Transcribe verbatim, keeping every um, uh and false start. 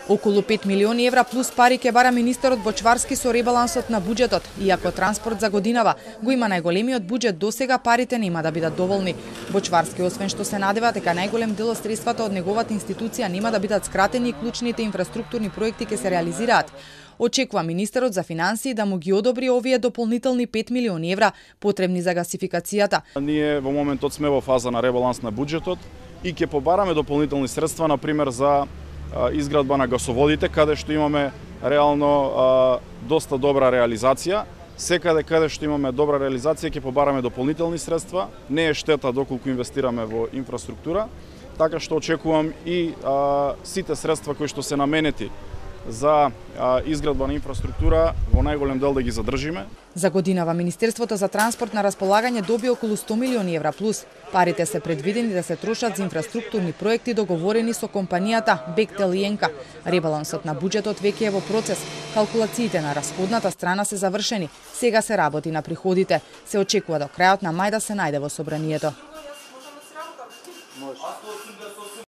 Околу пет милиони евра плюс пари ќе бара министерот Бочварски со ребалансот на буџетот. Иако транспорт за годинава го има најголемиот буџет досега, парите нема да бидат доволни. Бочварски, освен што се надева дека најголем дел од средствата од неговата институција нема да бидат скратени и клучните инфраструктурни проекти ќе се реализираат, очекува министерот за финансии да му ги одобри овие дополнителни пет милиони евра потребни за гасификацијата. Ние во моментот сме во фаза на ребаланс на буџетот и ќе побараме дополнителни средства, на пример за изградба на гасоводите, каде што имаме реално а, доста добра реализација. Секаде каде што имаме добра реализација ќе побараме дополнителни средства. Не е штета доколку инвестираме во инфраструктура, така што очекувам и а, сите средства кои што се наменети за а, изградба на инфраструктура во најголем дел да ги задржиме. За годинава Министерството за транспорт на располагање доби околу сто милиони евра плюс. Парите се предвидени да се трошат за инфраструктурни проекти договорени со компанијата Бехтел и Енка. Ребалансот на буџетот веќе е во процес. Калкулациите на расходната страна се завршени. Сега се работи на приходите. Се очекува до крајот на мај да се најде во собранието.